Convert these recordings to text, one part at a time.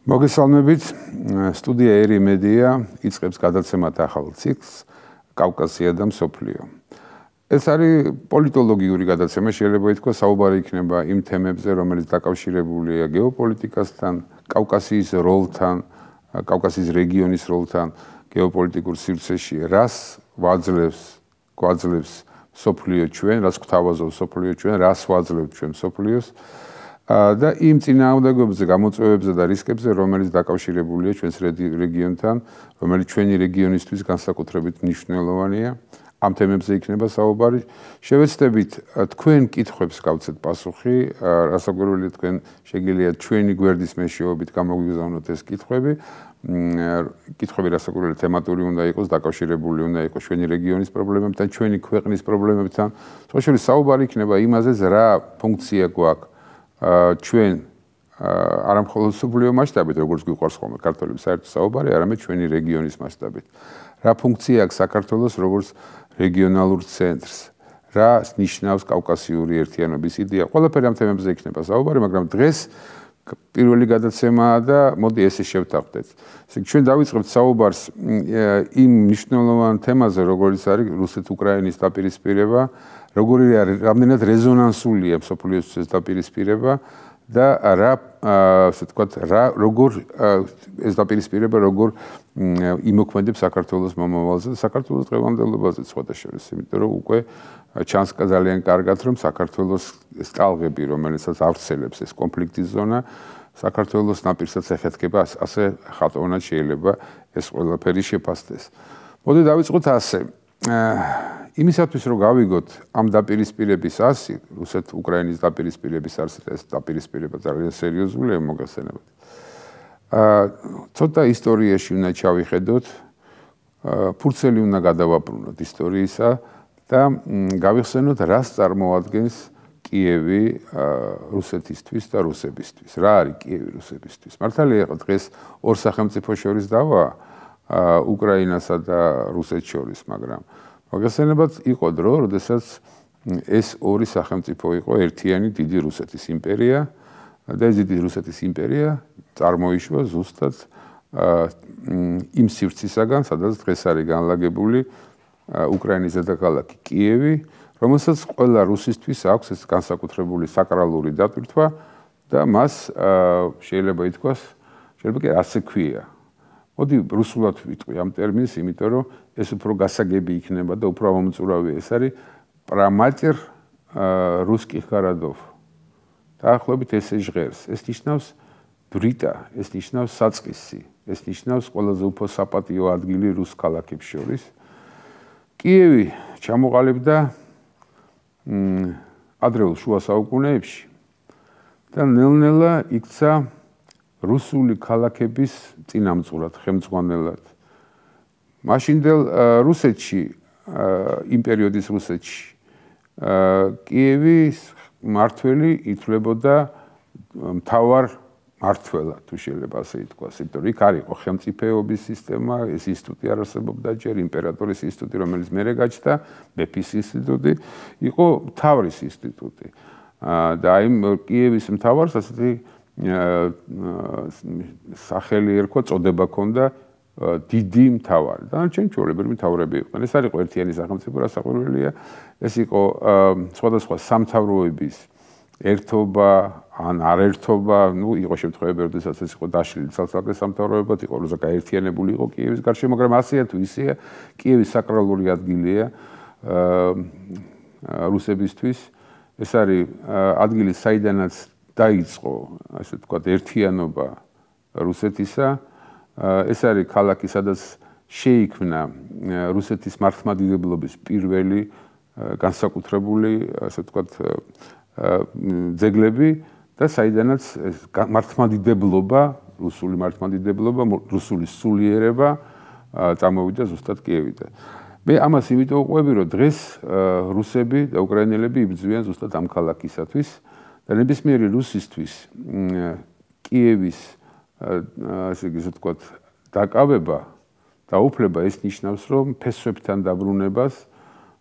მოგესალმებით, სტუდია ერი მედია იწყებს გადაცემათ ახალ ციკლს კავკასია და მსოფლიო. ეს არის პოლიტოლოგიური გადაცემა, შეიძლება ითქვას, საუბარი იქნება იმ თემებზე, რომელიც დაკავშირებულია გეოპოლიტიკასთან, კავკასიის როლთან, კავკასიის რეგიონის როლთან, გეოპოლიტიკურ სივრცეში, რას გვაძლევს მსოფლიო ჩვენ, რას გვთავაზობს მსოფლიო ჩვენ, რას ვაძლევთ ჩვენ მსოფლიოს. და იმ წინააღმდეგობებზე, გამოწვევებზე და რისკებზე, რომელიც დაკავშირებულია ჩვენს რეგიონთან, რომელიც ჩვენი რეგიონისთვის განსაკუთრებით მნიშვნელოვანია, ამ თემებზე იქნება საუბარი. შევეცდებით თქვენ კითხვებს გავცეთ პასუხი, რასაკვირველია თქვენ შეგიძლიათ ჩვენი გვერდის მეშვეობით გამოგვიგზავნოთ ეს კითხვები. კითხვები რასაკვირველია თემატური უნდა იყოს, დაკავშირებული უნდა იყოს ჩვენი რეგიონის პრობლემებთან, ჩვენი ქვეყნის პრობლემებთან. სხვა შორის საუბარი იქნება იმაზე, რა ფუნქცია გვაქვს ჩვენ არა მხოლოდ მსოფლიო მასშტაბით, როგორც გვიყვარს ხოლმე ქართველების საერთო საუბარი, არამედ ჩვენი რეგიონის მასშტაბით. რა ფუნქცია აქვს საქართველოს როგორც რეგიონალურ ცენტრს? რა ნიშნავს კავკასიური ერთიანობის იდეა? ყველაფერი ამ თემებზე იქნება საუბარი, მაგრამ დღეს პირველი გადაცემაა და მოდი ესე შევთანხმდეთ. ჩვენ დავიწყებთ საუბარს იმ მნიშვნელოვან თემაზე, როგორც არის რუსეთ-უკრაინის დაპირისპირება, როგორი რამდენად რეზონანსულია მსოფლიოსთვის დაპირისპირება და როგორ ეს დაპირისპირება როგორ იმოქმედებს საქართველოს მომავალზე და საქართველოს დღევანდელობაზე სხვათა შორის, იმიტომ რომ უკვე ჩანს ძალიან კარგად, რომ საქართველოს სტალღები, რომელსაც ავრცელებს ეს კონფლიქტის ზონა, საქართველოს ნაპირსაც ეხეთქება, ასე ხატოვნად შეიძლება ეს ყველაფერი შეფასდეს. მოდი დავიწყოთ ასე. იმისათვის რომ გავიგოთ ამ დაპირისპირების ასი, რუსეთ-უკრაინის დაპირისპირების ასი, ეს დაპირისპირება ძალიან სერიოზულია მოგახსენებათ. ცოტა ისტორიაში უნდა ჩავიხედოთ, ფურცელი უნდა გადავაბრუნოთ ისტორიისა და გავიხსენოთ, რას წარმოადგენს კიევი რუსეთისთვის და რუსებისთვის. რა არის კიევი რუსებისთვის? მართალია ხო დღეს ორ სახელმწიფოს შორის დავა უკრაინასა და რუსეთს შორის, მაგრამ მოგახსენებათ, იყო დრო, როდესაც ეს ორი სახელმწიფო იყო ერთიანი დიდი რუსეთის იმპერია და ეს დიდი რუსეთის იმპერია წარმოიშვა ზუსტად იმ სივრცისაგან, სადაც დღეს არის განლაგებული უკრაინის დედაქალაქი კიევი, რომელსაც ყველა რუსისთვის აქვს ეს განსაკუთრებული საკრალური დატვირთვა და მას შეიძლება ითქვას, შეიძლება კი ასე ქვია. მოდი რუსულად ვიტყვი ამ ტერმინს, იმიტომ რომ ეს უფრო გასაგები იქნება და უფრო ამომწურავია. ეს არის პრამატერ რუსკი ხარადოვ. დაახლოებით ესე ჟღერს. ეს ნიშნავს ბრიტა, ეს ნიშნავს საწყისი, ეს ნიშნავს ყველაზე უფრო საპატიო ადგილი რუს ქალაქებს შორის. კიევი ჩამოყალიბდა ადრეულ შუა საუკუნეებში და ნელ-ნელა იქცა რუსული ქალაქების წინამძღვრად, ხელმძღვანელად. მაშინდელ რუსეთში, იმ პერიოდის რუსეთში, კიევის მმართველი ითვლებოდა მთავარ მმართველად, თუ შეიძლება ასე ითქვას, იმიტომ რომ იქ არ იყო ხელმწიფეობის სისტემა, ეს ინსტიტუტი არ არსებობდა ჯერ, იმპერატორის ინსტიტუტი, რომელიც მერე გაჩნდა, მეფის ინსტიტუტი, იყო მთავრის ინსტიტუტი. და იმ კიევის მთავარს ასეთი სახელი ერქვა, წოდება ჰქონდა დიდი მთავარი. დანარჩენი ჩვეულებრივი მთავრები იყვნენ. ეს არ იყო ერთიანი სახელმწიფო, რასაკვირველია. ეს იყო სხვადასხვა სამთავროების ერთობა ან არერთობა, იყო შემთხვევები, როდესაც ეს იყო დაშლილი ცალ-ცალკე სამთავროებად, იყო როცა გაერთიანებული იყო კიევის გარშემო, მაგრამ ასეა თუ ისეა, კიევი საკრალური ადგილია რუსებისთვის. ეს არის ადგილი, საიდანაც დაიწყო, ასე ვთქვათ, ერთიანობა რუსეთისა. ეს არის ქალაქი, სადაც შეიქმნა რუსეთის მართლმადიდებლობის პირველი განსაკუთრებული, ასე ვთქვათ, ძეგლები და საიდანაც მართლმადიდებლობა, რუსული მართლმადიდებლობა, რუსული სულიერება წამოვიდა ზუსტად კიევიდან. მე ამას იმიტომ ვყვები, რომ დღეს რუსები და უკრაინელები იბრძვიან ზუსტად ამ ქალაქისათვის და ნებისმიერი რუსისთვის კიევის ასე ვთქვათ, დაკავება და უფლება ეს ნიშნავს, რომ ფესვებთან დაბრუნებას,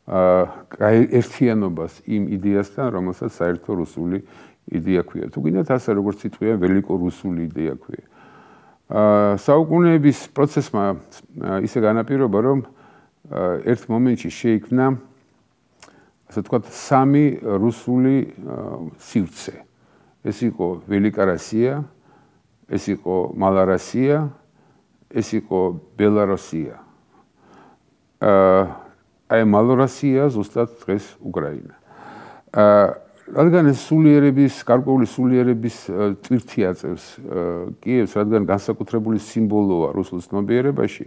ერთიანობას იმ იდეასთან, რომელსაც საერთო რუსული იდეა ქვია. თუ გინდათ ასე როგორც იტყვიან, ველიკო რუსული იდეა ქვია. საუკუნეების პროცესმა ისე განაპირობა, რომ ერთ მომენტში შეიქმნა ასე ვთქვათ სამი რუსული სივრცე. ეს იყო ველიკა როსია, ეს იყო მალა როსია, ეს იყო ბელარუსია. აი მალა როსია ზუსტად დღეს უკრაინა. რადგან ეს სულიერების, გარკვეული სულიერების ტვირთი აწევს კიევს, რადგან განსაკუთრებული სიმბოლოა რუსულ ცნობიერებაში,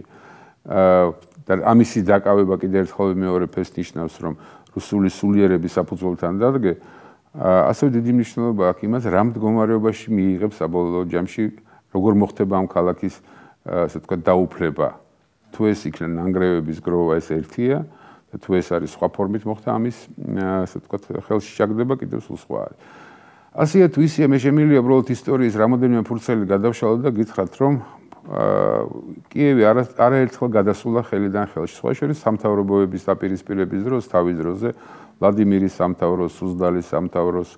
და ამისი დაკავება კიდევ ერთხელ მეორე ფეს ნიშნავს, რომ რუსული სულიერები საფუძველთან დადგე, ასევე დიდი მნიშვნელობა აქვს იმას, რა მდგომარეობაში მიიღებს საბოლოო ჯამში, როგორ მოხდება ამ ქალაქის, ასე ვთქვათ, დაუფლება. თუ ეს იქნება ნანგრევების გროვა, ეს ერთია. თუ ეს არის სხვა ფორმით მოხდა ამის, ასე ვთქვათ, ხელში ჩაგდება კიდევ სულ სხვა არის. ასეა თუ ისეა მე შემიძლია უბრალოდ ისტორიის რამოდენიმე ფურცელი გადავშალო და გითხრათ, რომ კიევი არაერთხელ გადასულა ხელიდან ხელში. სხვა შორის სამთავრობოების დაპირისპირების დროს, თავის დროზე, ვლადიმირის სამთავროს, სუზდალის სამთავროს,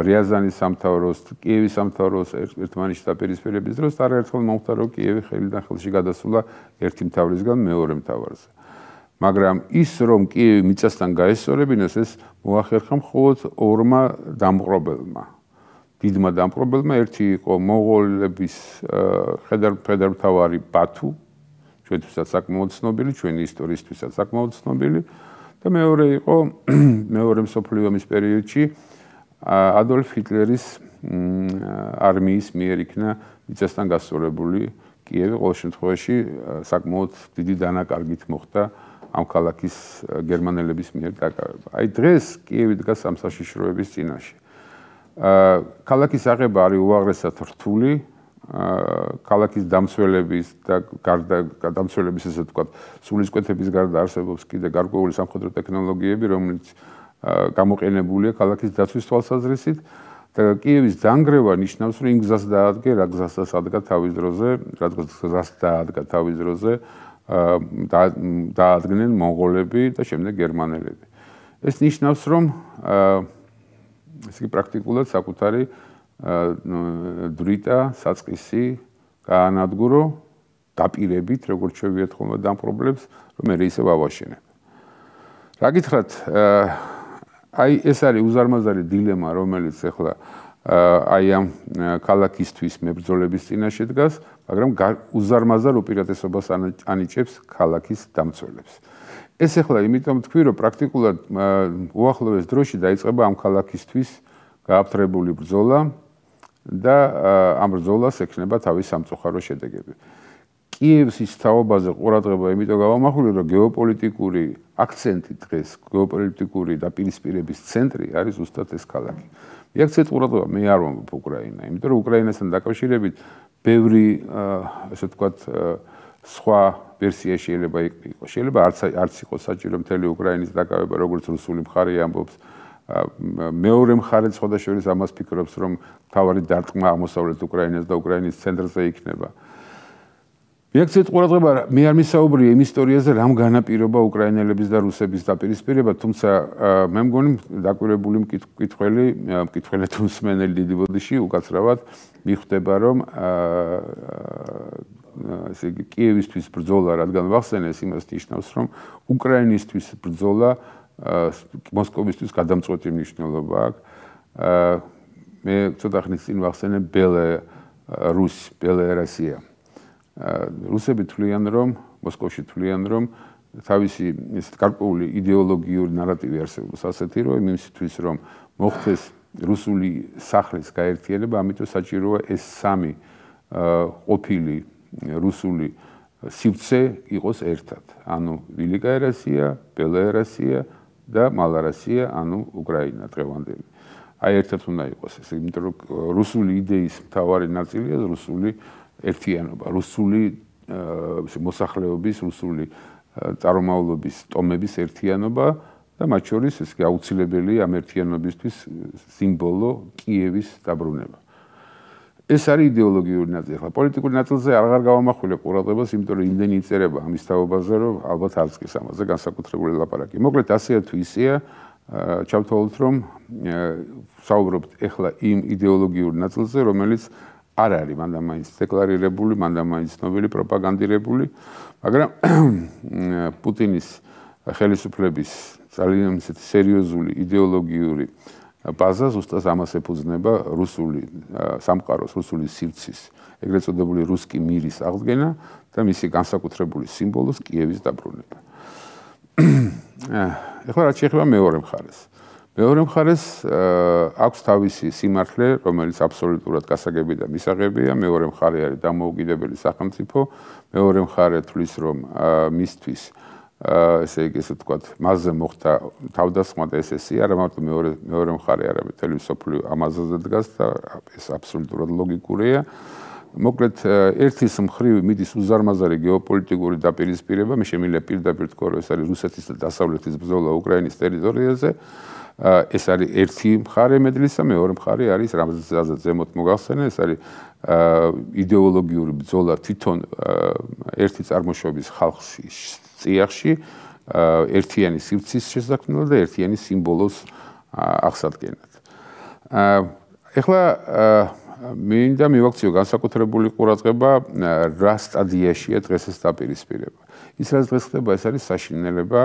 რიაზანის სამთავროს, კიევის სამთავროს ერთმანეთში დაპირისპირების დროს არაერთხელ მოხდა, რომ კიევი ხელიდან ხელში გადასულა ერთი მთავრისგან მეორე მთავარზე. მაგრამ ის რომ კიევი მიწასთან გაესწორებინოს, ეს მოახერხა მხოლოდ ორმა დამპყრობელმა. დიდმა დამპყრობელმა, ერთი იყო მონღოლების ხედარმთავარი ბათუ, ჩვენთვისაც საკმაოდ ცნობილი, ჩვენი ისტორიისთვისაც საკმაოდ ცნობილი, და მეორე იყო მეორე მსოფლიო ომის პერიოდში ადოლფ ჰიტლერის არმიის მიერ იქნა მიწასთან გასწორებული კიევი. ყოველ შემთხვევაში საკმაოდ დიდი დანაკარგით მოხდა ამ ქალაქის გერმანელების მიერ დაკავება. აი დღეს კიევი დგას ამ საშიშროების წინაშე. ქალაქის აღება არის უაღრესად რთული, ქალაქის დამცველების და დამცველების ესე ვთქვათ, სულისკვეთების გარდა არსებობს კიდე გარკვეული სამხედრო ტექნოლოგიები, რომელიც გამოყენებულია ქალაქის დაცვის თვალსაზრისით და კიევის დანგრევა ნიშნავს, რომ იმ გზას დაადგე, რა გზასაც ადგა თავის დროზე, რა გზას დაადგა თავის დროზე დაადგნენ მონღოლები და შემდეგ გერმანელები. ეს ნიშნავს, რომ ესე იგი პრაქტიკულად საკუთარი დრიტა, საწყისი გაანადგურო დაპირებით, როგორც შევიეთ ხოლმე დამპყრობლებს, რომ მე ისევ ავაშენებ. რა გითხრათ, აი ეს არის უზარმაზარი დილემა, რომელიც ახლა აი ამ ქალაქისთვის მებრძოლების წინაშე დგას, მაგრამ უზარმაზარ უპირატესობას ანიჭებს ქალაქის დამცველებს. ეს ახლა იმიტომ თქვი, რომ პრაქტიკულად უახლოეს დროში დაიწყება ამ ქალაქისთვის გააფთრებული ბრძოლა და ამ ბრძოლას ექნება თავის სამწუხარო შედეგები. კიევის თაობაზე ყურადღება იმიტომ გავამახვილე, რომ გეოპოლიტიკური აქცენტი დღეს, გეოპოლიტიკური დაპირისპირების ცენტრი არის ზუსტად ეს ქალაქი. მიაქცეთ ყურადღება, მე არ ვამბობ უკრაინა, იმიტომ რომ უკრაინასთან დაკავშირებით ბევრი, ასე ვთქვათ, სხვა ვერსია შეიძლება იყოს. შეიძლება არც იყოს საჭირო მთელი უკრაინის დაკავება, როგორც რუსული მხარე ამბობს. მეორე მხარეც სხვადასხვა ამას ფიქრობს, რომ თავარი დარტყმა აღმოსავლეთ უკრაინას და უკრაინის ცენტრზე იქნება. მიაქცეთ ყურადღება, მე არ მისაუბრია იმ ისტორიაზე, რამ განაპირობა უკრაინელების და რუსების დაპირისპირება, თუმცა მე მგონი დაკვირვებული მკითხველი თუ მსმენელი დიდი ბოდიში უკაცრავად მიხვდება, რომ ესე იგი კიევისთვის ბრძოლა, რადგან ვახსენეს, იმას ნიშნავს, რომ უკრაინისთვის ბრძოლა მოსკოვისთვის გადამწყვეტი მნიშვნელობა აქვს. მე ცოტა ხნის წინ ვახსენე ბელარუსია. რუსები თვლიან, რომ მოსკოვში თვლიან, რომ თავისი ეს გარკვეული იდეოლოგიური ნარატივი არსებობს ასეთი, რომ იმისთვის, რომ მოხდეს რუსული სახლის გაერთიანება, ამიტომ საჭიროა ეს სამი ყოფილი რუსული სივრცე იყოს ერთად. ანუ ველიკა როსია, ბელარუსია და მალა როსია, ანუ უკრაინა დღევანდელი. აი ერთად უნდა იყოს ეს, იმიტომ რომ რუსული იდეის მთავარი ნაწილია რუსული ერთიანობა, რუსული მოსახლეობის, რუსული წარმომავლობის ტომების ერთიანობა და მათ შორის ეს აუცილებელი ამ ერთიანობისთვის სიმბოლო კიევის დაბრუნება. ეს არის იდეოლოგიური ნაწილი. ახლა პოლიტიკური ნაწილზე აღარ გავამახვილე ყურადღებას, იმიტომ რომ იმდენი იწერება ამის თაობაზე, რომ ალბათ არც კი ამაზე განსაკუთრებული ლაპარაკი. მოკლედ ასეა თუ ისეა, ჩავთვალოთ, რომ საუბრობთ ახლა იმ იდეოლოგიურ ნაწილზე, რომელიც არ არის მანდ-მაინც დეკლარირებული, მანდ-მაინც ცნობილი, პროპაგანდირებული, მაგრამ პუტინის ხელისუფლების ძალიან სერიოზული იდეოლოგიური ბაზა ზუსტად ამას ეფუძნება რუსული სამყაროს, რუსული სივრცის, ეგრეთ წოდებული რუსკი მირის აღდგენა და მისი განსაკუთრებული სიმბოლოს კიევის დაბრუნება. ეხლა რაც შეეხება მეორე მხარეს. მეორე მხარეს აქვს თავისი სიმართლე, რომელიც აბსოლუტურად გასაგები და მისაღებია, მეორე მხარე არის დამოუკიდებელი სახელმწიფო, მეორე მხარე თვლის, რომ მისთვის ესე იგი ესე ვთქვათ, მასზე მოხდა თავდასხმა და ესესი, არა მარტო მეორე მხარე, არამედ მთელი მსოფლიო ამაზე დგას და ეს აბსოლუტურად ლოგიკურია. მოკლედ, ერთის მხრივ მიდის უზარმაზარი გეოპოლიტიკური დაპირისპირება, მე შემიძლია პირდაპირ თქვა, რომ ეს არის რუსეთის და დასავლეთის ბრძოლა უკრაინის ტერიტორიაზე. ეს არის ერთი მხარე მედლისა, მეორე მხარე არის რამაზეც ზემოთ მოგახსენე, ეს არის იდეოლოგიური ბრძოლა თვითონ ერთი წარმოშობის ხალხში წიაღში, ერთიანი სივრცის შესაქმნელად და ერთიანი სიმბოლოს აღსადგენად. ეხლა მინდა მივაქციო განსაკუთრებული ყურადღება რა სტადიაშია დღეს ეს დაპირისპირება. ის რაც დღეს ხდება, ეს არის საშინელება,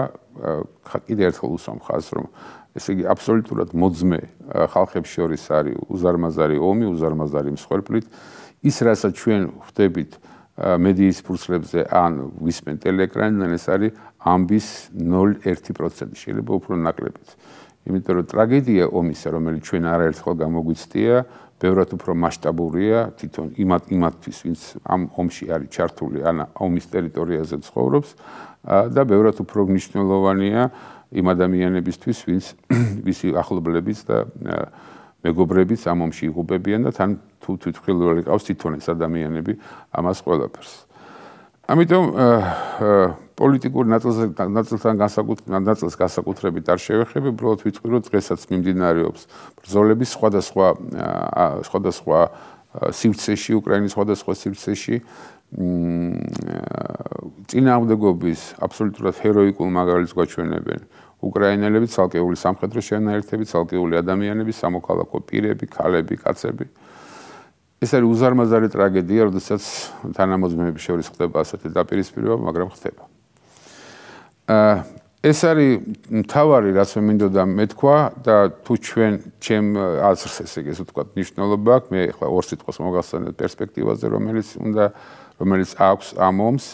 კიდევ ერთხელ უსვამ ხაზს, რომ ესე იგი აბსოლუტურად მოძმე ხალხებს შორის არის უზარმაზარი ომი, უზარმაზარი მსხვერპლით. ის რასაც ჩვენ ხვდებით მედიის ფურცლებზე ან ვისმენთ ტელეეკრანიდან, ეს არის ამბის 0.1%, შეიძლება უფრო ნაკლებიც. იმიტომ რომ ტრაგედია ომისა, რომელიც ჩვენ არაერთხელ გამოგვიცდია, ბევრად უფრო მასშტაბურია თვითონ იმათთვის, ვინც ამ ომში არის ჩართული, ან ომის ტერიტორიაზე ცხოვრობს და ბევრად უფრო მნიშვნელოვანია იმ ადამიანებისთვის, ვისი ახლობლებიც და მეგობრებიც ამ ომში იღუპებიან და თან თუ თვითმხილველი ყავს თვითონ ეს ადამიანები ამას ყველაფერს. ამიტომ პოლიტიკურ ნაწილს განსაკუთრებით არ შევეხები, უბრალოდ ვიტყვი, რომ დღესაც მიმდინარეობს ბრძოლები სხვადასხვა სივრცეში, უკრაინის სხვადასხვა სივრცეში. წინააღმდეგობის აბსოლუტურად ჰეროიკულ მაგალითს გვაჩვენებენ უკრაინელები, ცალკეული სამხედრო შენაერთები, ცალკეული ადამიანები, სამოქალაქო პირები, ქალები, კაცები. ეს არის უზარმაზარი ტრაგედია, როდესაც თანამოძმეების შორის ხდება ასეთი დაპირისპირება, მაგრამ ხდება. ეს არის მთავარი, რაც მე მინდოდა მეთქვა და თუ ჩვენ ჩემ აზრს ესე იგი ვთქვათ, მნიშვნელობა აქვს, მე ახლა ორ სიტყვას მოგახსენებ პერსპექტივაზე, რომელიც აქვს ამ ომს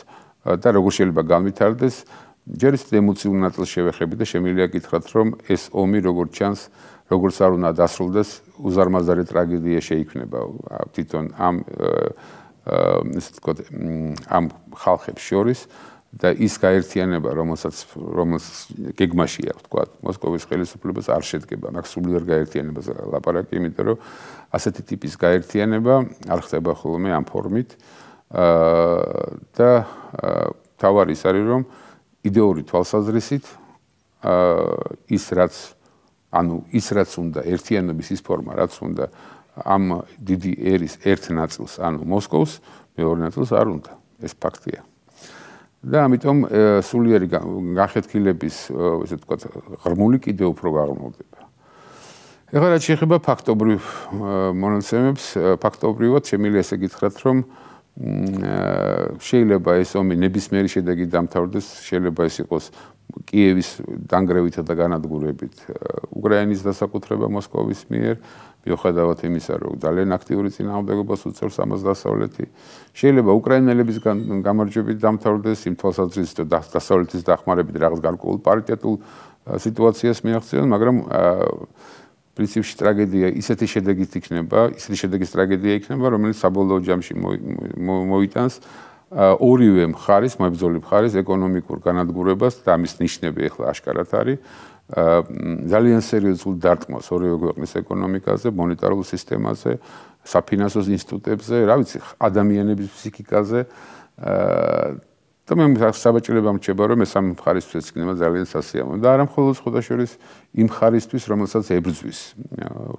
და როგორ შეიძლება განვითარდეს. ჯერ ის ემოციურ ნაწილს შევეხები და შემიძლია გითხრათ, რომ ეს ომი როგორც ჩანს, როგორც არ უნდა დასრულდეს, უზარმაზარი ტრაგედია შეიქმნება თვითონ ამ ხალხებს შორის და ის გაერთიანება, რომელსაც გეგმაშია, ვთქვათ, მოსკოვის ხელისუფლებას არ შედგება, მაგ სულიერ გაერთიანებას ლაპარაკი, იმიტომ რომ ასეთი ტიპის გაერთიანება არ ხდება ხოლმე ამ ფორმით და თავარი ის არის, რომ იდეური თვალსაზრისით ის რაც უნდა ერთიანობის ის ფორმა, რაც უნდა ამ დიდი ერის ერთ ნაწილს, ანუ მოსკოვს, მეორე ნაწილს არ უნდა. ეს ფაქტია. და ამიტომ სულიერი განხეთქილების, ესე ვთქვათ, ღრმული კიდევ უფრო გაღრმავდება. ეხლა რაც შეეხება ფაქტობრივ მონაცემებს, ფაქტობრივად შემიძლია ესე გითხრათ, რომ შეიძლება ეს ომი ნებისმიერი შედეგი დამთავრდეს, შეიძლება ეს იყოს კიევის დანგრევითა და განადგურებით უკრაინის დასაკუთრება მოსკოვის მიერ, მიუხედავად იმისა, რომ ძალიან აქტიური წინააღმდეგობას უწევს ამას დასავლეთი. შეიძლება უკრაინელების გამარჯვებით დამთავრდეს, იმ თვალსაზრისით, რომ დასავლეთის დახმარებით რაღაც გარკვეულ პარიტეტულ სიტუაციას მიაღწიონ, მაგრამ პრინციპში ტრაგედია ისეთი შედეგით იქნება, ისეთი შედეგის ტრაგედია იქნება, რომელიც საბოლოო ჯამში მოიტანს ორივე მხარის, მებრძოლი მხარის ეკონომიკურ განადგურებას და ამის ნიშნები ახლა აშკარად არის. ძალიან სერიოზულ დარტყმას ორივე ქვეყნის ეკონომიკაზე, მონეტარულ სისტემაზე, საფინანსო ინსტიტუტებზე, რა ვიცი, ადამიანების ფსიქიკაზე და მე საბაჭრება მრჩება, რომ ეს ამ მხარისთვის იქნება ძალიან სასიამოვნო და არა მხოლოდ ხოდაშორის იმ მხარისთვის, რომელსაც ებრძვის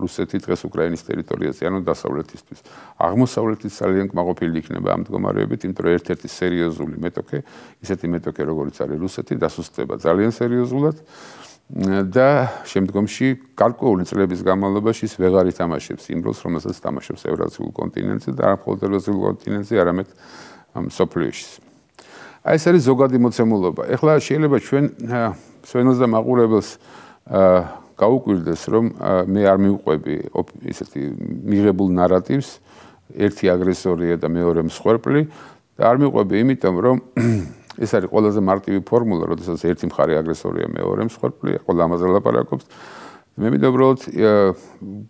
რუსეთი დღეს უკრაინის ტერიტორიაზე, ანუ დასავლეთისთვის. აღმოსავლეთის ძალიან კმაყოფილი იქნება ამ მდგომარეობით, იმიტომ რომ ერთ-ერთი სერიოზული მეტოქე, ისეთი მეტოქე, როგორც არის რუსეთი, დასუსტდება ძალიან სერიოზულად და შემდგომში გარკვეული წლების განმავლობაში ვეღარ ითამაშებს იმ როლს, რომელსაც თამაშობს ევრაზიულ კონტინენტზე და არა მხოლოდ ევრაზიულ კონტინენტზე, არამედ მსოფლიოში. აი ეს არის ზოგადი მოცემულობა. ეხლა შეიძლება ჩვენ სვენელს და მაყურებელს გაუკვირდეს, რომ მე არ მივყვები ისეთი მიღებულ ნარატივს, ერთი აგრესორია და მეორე მსხვერპლი და არ მივყვები იმიტომ, რომ ეს არის ყველაზე მარტივი ფორმულა, როდესაც ერთი მხარე აგრესორია, მეორე მსხვერპლია, ყველა ამაზე ლაპარაკობს. მე მინდა უბრალოდ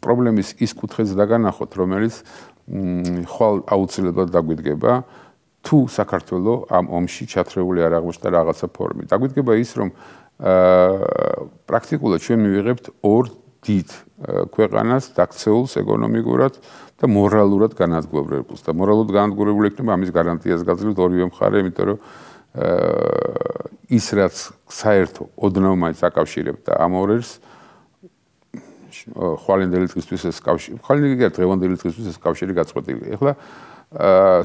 პრობლემის ის კუთხეც დაგანახოთ, რომელიც ხვალ აუცილებლად დაგვიდგება, თუ საქართველო ამ ომში ჩათრეული არ აღმოჩნდა რაღაცა ფორმით. დაგვიდგება ის, რომ პრაქტიკულად ჩვენ მივიღებთ ორ დიდ ქვეყანას დაქცეულს ეკონომიკურად და მორალურად განადგურებულს და მორალურად განადგურებული იქნება ამის გარანტიას გაძლევთ ორივე მხარე, იმიტომ რომ ის რაც საერთო ოდნავ მაინც აკავშირებდა ამ ორერს ხვალინდელი დღისთვის ეს კავშირი, ხვალინდელი დღევანდელი დღისთვის ეს კავშირი გაწყვეტილია. ეხლა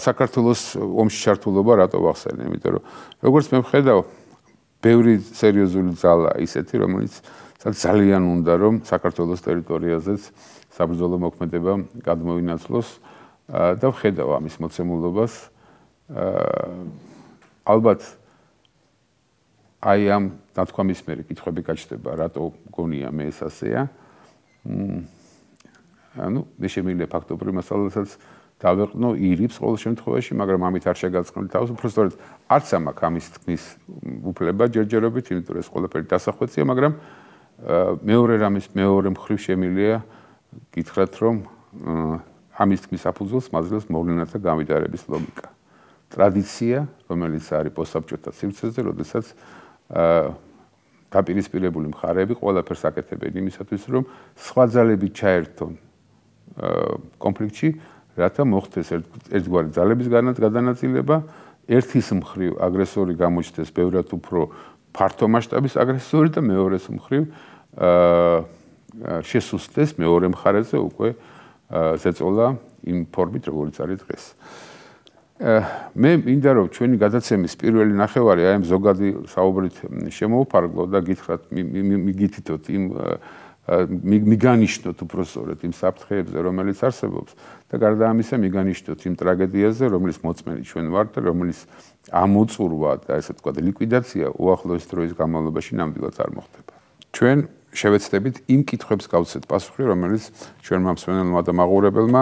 საქართველოს ომში ჩართულობა რატო ვახსენე? იმიტომ რომ როგორც მე ვხედავ, ბევრი სერიოზული ძალა ისეთი, რომელიც ძალიან უნდა რომ საქართველოს ტერიტორიაზეც საბრძოლო მოქმედება გადმოინაცვლოს და ვხედავ ამის მოცემულობას. ალბათ აი ამ დათქვამის მერე კითხვები გაჩნდება, რატო გონია მე ეს ასეა. ანუ მე შემიძლია ფაქტობრივ მასალასაც დავეყნო ირიბს ყოველ შემთხვევაში, მაგრამ ამით არ შეგაწყნოთ თავს, უბრალოდ არც ამაქვს ამის თქმის უფლება ჯერჯერობით, იმიტომ რომ ეს ყველაფერი დასახვეცია, მაგრამ მეორე რამის მეორე მხრივ შემიძლია გითხრათ, რომ ამის თქმის საფუძველს მაძლევს მოვლენათა გამიტარების ლოგიკა. ტრადიცია, რომელიც არის პოსტსაბჭოთა სივრცეზე, როდესაც დაპირისპირებული მხარეები ყველაფერს აკეთებენ იმისათვის, რომ სხვა ძალები ჩაერთონ კონფლიქტში, რათა მოხდეს ერთგვარი ძალების გადანაწილება, ერთის მხრივ აგრესორი გამოჩნდეს ბევრად უფრო ფართო მასშტაბის აგრესორი და მეორეს მხრივ შესუსტდეს მეორე მხარეზე უკვე ზეწოლა იმ ფორმით, როგორც არის დღეს. მე მინდა რომ ჩვენი გადაცემის პირველი ნახევარი აი ამ ზოგადი საუბრით შემოვფარგლო და გითხრათ მიგითითოთ იმ მიგანიშნოთ უბრალოდ იმ საფრთხეებზე, რომელიც არსებობს და გარდა ამისა მიგანიშნოთ იმ ტრაგედიაზე, რომლის მოწმენი ჩვენ ვართ და რომლის ამოწურვა და ესე ვთქვათ ლიკვიდაცია უახლოეს დროის განმავლობაში ნამდვილად არ მოხდება. ჩვენ შევეცდებით იმ კითხვებს გავცეთ პასუხი, რომელიც ჩვენმა მსმენელმა და მაყურებელმა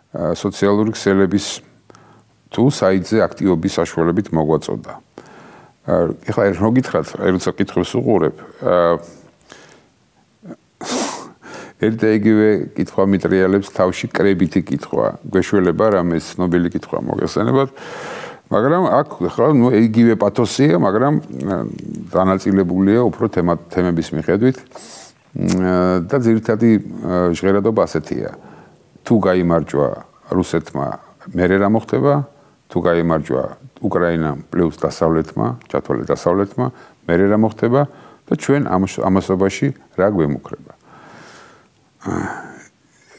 სოციალური ქსელების თუ საიტზე აქტივობის საშუალებით მოგვაწოდა. ეხლა რო გითხრათ, როცა კითხვებს უყურებ, ერთ და იგივე კითხვა მიტრიალებს თავში კრებითი კითხვა. გვეშველება რამე ცნობილი კითხვა მოგეხსენებათ, მაგრამ აქ ხა იგივე პათოსია, მაგრამ დანაწილებულია უფრო თემების მიხედვით და ძირითადი ჟღერადობა ასეთია. თუ გაიმარჯვა რუსეთმა, მერე რა მოხდება? თუ გაიმარჯვა უკრაინამ პლუს დასავლეთმა, ჩათვალე დასავლეთმა, მერე რა მოხდება და ჩვენ ამასობაში რა გვემუქრება.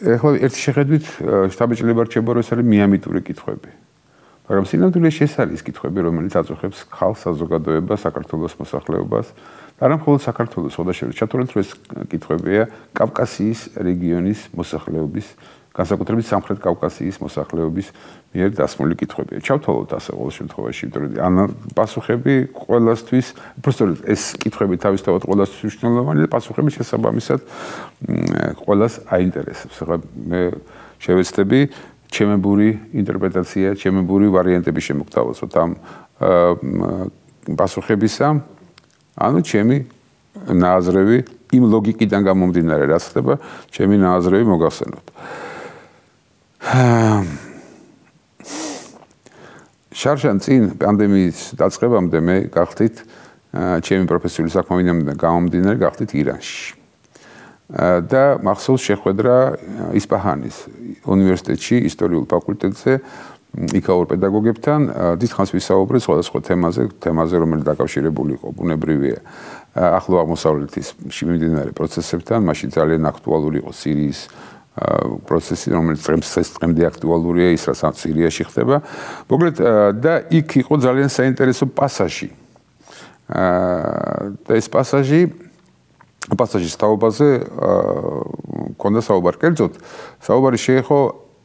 ეხლა ერთი შეხედვით შტაბ-ჭრილება რჩება, რომ ეს არის მიამიტური კითხვები. მაგრამ სინამდვილეში ეს არის კითხვები, რომელიც აწუხებს ხალხს, საზოგადოებას, საქართველოს მოსახლეობას და არა მხოლოდ საქართველოს, ხოდაშევრდომი ჩათვალეთ, რომ ეს კითხვებია კავკასიის რეგიონის მოსახლეობის, განსაკუთრებით სამხრეთ კავკასიის მოსახლეობის მიერ დასმული კითხვებია. ჩავთვალოთ ასე ყოველ შემთხვევაში, იმიტომ რომ ან პასუხები ყველასთვის, უბრალოდ ეს კითხვები თავისთავად ყველასთვის მნიშვნელოვანია და პასუხები შესაბამისად ყველას აინტერესებს. ახლა მე შევეცდები ჩემებური ინტერპრეტაცია, ჩემებური ვარიანტები შემოგთავაზოთ ამ პასუხებისა, ანუ ჩემი ნააზრევი იმ ლოგიკიდან გამომდინარე, რაც ხდება, ჩემი ნააზრევი მოგახსენოთ. შარშან წინ პანდემიის დაწყებამდე მე გახდით ჩემი პროფესიული საქმიანობიდან გამომდინარე გახდით ირანში. და მახსოვს შეხვედრა ისპაჰანის უნივერსიტეტში ისტორიულ ფაკულტეტზე იქაურ პედაგოგებთან დიდხანს ვისაუბრეთ სხვადასხვა თემაზე, რომელიც დაკავშირებული იყო ბუნებრივია ახლო აღმოსავლეთის მიმდინარე პროცესებთან, მაშინ ძალიან აქტუალური იყო სირიის პროცესი, რომელიც დღემდე აქტუალურია, ის რაც სირიაში ხდება. მოკლედ და იქ იყო ძალიან საინტერესო პასაჟი. და ეს პასაჟის თაობაზე მქონდა საუბარი. კერძოდ, საუბარი შეეხო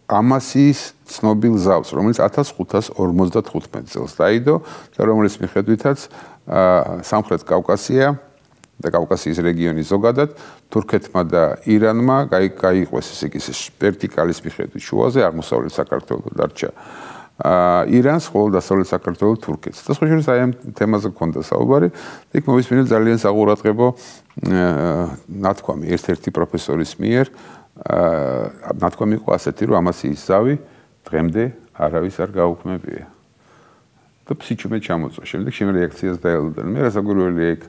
ამასიის ცნობილ ზავს, რომელიც 1555 წელს დაიდო და რომელიც მიხედვითაც სამხრეთ კავკასია და კავკასიის რეგიონი ზოგადად თურქეთმა და ირანმა გაიყვეს ესე იგი ვერტიკალის მიხედვით შუაზე აღმოსავლეთ საქართველოს დარჩა ირანს, ხოლო დასავლეთ საქართველოს თურქეთს. და სხვა შორის აი ამ თემაზე გქონდა საუბარი. იქ მოვისმინეთ ძალიან საყურადღებო ნათქვამი ერთ-ერთი პროფესორის მიერ. ნათქვამი იყო ასეთი, რომ ამასიის ზავი დღემდე არავის არ გაუქმებია. და ფსიჩუმე ჩამოწვა. შემდეგ შემ რეაქციას დაელოდა. მე რასაკვირველია იქ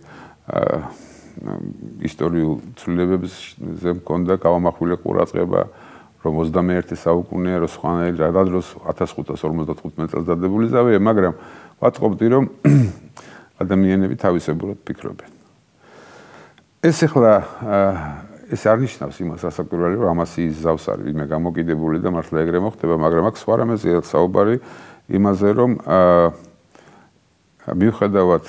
ისტორიულ ცვლილებებზე მქონდა გავამახვილე ყურადღება, რომ 21 საუკუნეა, რომ სხვანაირად რა დროს 1555 წელს დადებული ზავია, მაგრამ ვატყობდი, რომ ადამიანები თავისებურად ფიქრობენ. ეს ახლა ეს არ ნიშნავს იმას რასაკვირველია, რომ ამასიის ზავს არის ვინმე გამოკიდებული და მართლა ეგრე მოხდება, მაგრამ აქ სხვა რამეზეა საუბარი იმაზე, რომ მიუხედავად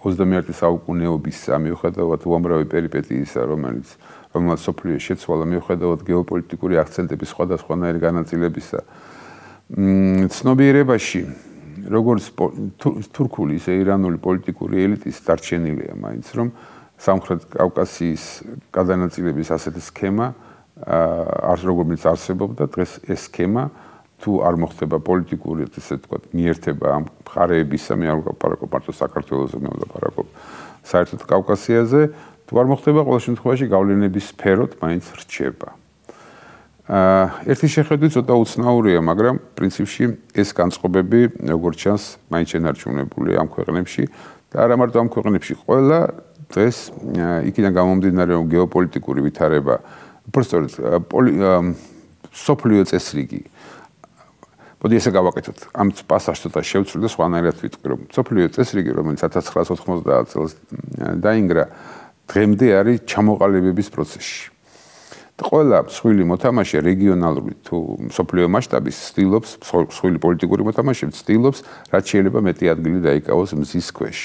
21 საუკუნეობისა, მიუხედავად უამრავი პერიპეტიისა, რომელმაც სოფლიო შეცვალა, მიუხედავად გეოპოლიტიკური აქცენტების სხვადასხვანაირი განაწილებისა, ცნობიერებაში როგორც თურქული, ისე ირანული პოლიტიკური ელიტის დარჩენილია მაინც, რომ სამხრეთ კავკასიის გადანაწილების ასეთი სქემა როგორც არსებობდა, დღეს ეს სქემა თუ არ მოხდება პოლიტიკური, ესე ვთქვათ, მიერთება ამ მხარეებისა, მე არ ვაპარაკობ მარტო საქართველოსზე, მე ვაპარაკობ საერთოდ კავკასიაზე, თუ არ მოხდება, ყოველ შემთხვევაში გავლენების სფეროთ მაინც რჩება. ერთი შეხედვით ცოტა უცნაურია, მაგრამ პრინციპში ეს განწყობები, როგორც ჩანს, მაინც შენარჩუნებულია ამ ქვეყნებში და არა მარტო ამ ქვეყნებში, ყველა დღეს იქიდან გამომდინარე, რომ გეოპოლიტიკური ვითარება, უბრალოდ სოფლიო წესრიგი მოდი ესე გავაკეთოთ. ამ პასაჟს ცოტა შევცვლი და სხვანაირად ვიტყვი, რომ სოფლიო წესრიგი, რომელიც 1990 წელს დაინგრა, დღემდე არის ჩამოყალიბების პროცესში. ყველა მსხვილი მოთამაშე რეგიონალური თუ სოფლიო მასშტაბის ცდილობს, მსხვილი პოლიტიკური მოთამაშე ცდილობს, რაც შეიძლება მეტი ადგილი დაიკავოს მზის ქვეშ.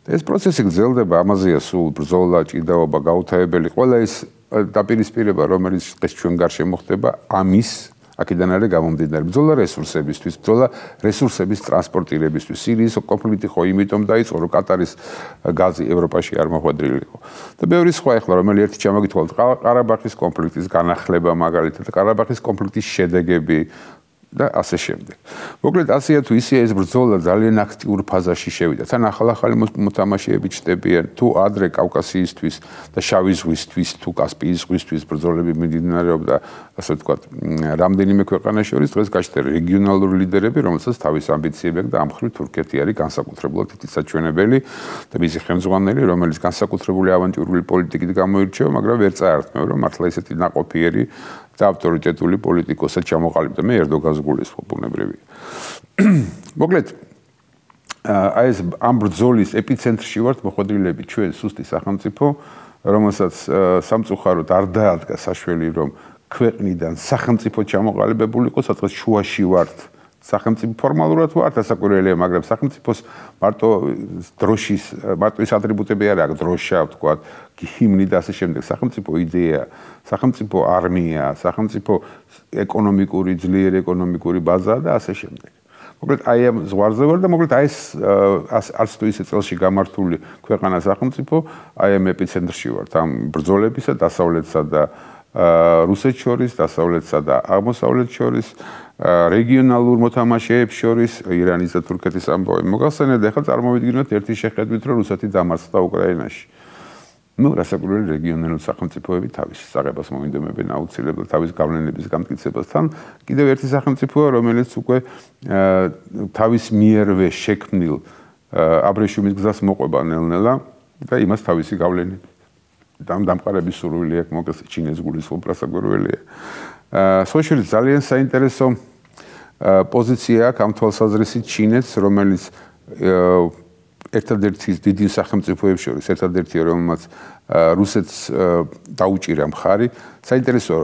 და ეს პროცესი გრძელდება, ამაზეა სულ ბრძოლა, ჭიდაობა, გაუთავებელი, ყველა ეს დაპირისპირება, რომელიც დღეს ჩვენ გარშემო ხდება, ამის აქედან არის გამომდინარე ბრძოლა რესურსებისთვის, ბრძოლა რესურსების ტრანსპორტირებისთვის. სირიის კონფლიქტი ხო იმიტომ დაიწყო, რომ კატარის გაზი ევროპაში არ მოხვედრილიყო. და ბევრი სხვა ახლა რომელი ერთი ჩამოგითვალოთ, ყარაბაღის კონფლიქტის განახლება მაგალითად, ყარაბაღის კონფლიქტის შედეგები და ასე შემდეგ. მოკლედ ასეა თუ ისეა ეს ბრძოლა ძალიან აქტიურ ფაზაში შევიდა. თან ახალ-ახალი მოთამაშეები ჩნდებიან, თუ ადრე კავკასიისთვის და შავი ზღვისთვის, თუ კასპიის ზღვისთვის ბრძოლები მიმდინარეობდა, ასე ვთქვათ, რამდენიმე ქვეყანას შორის დღეს გაჩნდა რეგიონალური ლიდერები, რომელსაც თავის ამბიციები აქვს და ამ მხრივ თურქეთი არის განსაკუთრებულად თვითსაჩვენებელი და მისი ხელმძღვანელი, რომელიც განსაკუთრებული ავანტიურული პოლიტიკით გამოირჩევა, მაგრამ ვერ წაართმევ, რომ მართლა ისეთი ნაყოფიერი და ავტორიტეტული პოლიტიკოსად ჩამოყალიბდა. მე ერდოგანს გულისხმობ ბუნებრივია. მოკლედ, აი ეს ამ ბრძოლის ეპიცენტრში ვართ მოხვედრილები ჩვენ სუსტი სახელმწიფო, რომელსაც სამწუხაროდ არ დაადგა საშველი, რომ ქვეყნიდან სახელმწიფო ჩამოყალიბებულიყო, სადღაც შუაში ვართ. სახელმწიფო ფორმალურად ვართ ასაკურველია, მაგრამ სახელმწიფოს მარტო დროშის, მარტო ის ატრიბუტები არ აქვს, დროშა, ვთქვათ, ჰიმნი და ასე შემდეგ. სახელმწიფო იდეა, სახელმწიფო არმია, სახელმწიფო ეკონომიკური, ძლიერი ეკონომიკური ბაზა და ასე შემდეგ. მოკლედ აი ამ ზღვარზე ვარ და მოკლედ აი ეს არც თუ ისე წელში გამართული ქვეყანა სახელმწიფო, აი ამ ეპიცენტრში ვართ ამ ბრძოლებისა დასავლეთსა და რუსეთს შორის, დასავლეთსა და აღმოსავლეთს შორის, რეგიონალურ მოთამაშეებს შორის, ირანის და თურქეთის ამბავი მოგახსენეთ, ახლა წარმოვიდგინოთ ერთი შეხედვით, რომ რუსეთი დამარცხდა უკრაინაში. ნუ რასაკვირველი რეგიონალური სახელმწიფოები თავის საღებას მოინდომებენ აუცილებლად თავის გავლენების გამტკიცებასთან. კიდევ ერთი სახელმწიფოა, რომელიც უკვე თავის მიერვე შექმნილ აბრეშუმის გზას მოყვება ნელ-ნელა და იმას თავისი გავლენები დამყარების სურვილი აქვს, მოგეს ჩინეთს გულისხმობ, რასაკვირველია. სხვა შორის ძალიან საინტერესო პოზიცია აქვს ამ თვალსაზრისით ჩინეთს, რომელიც ერთადერთი დიდი სახელმწიფოების შორის, ერთადერთია, რომელმაც რუსეთს დაუჭირა მხარი. საინტერესო,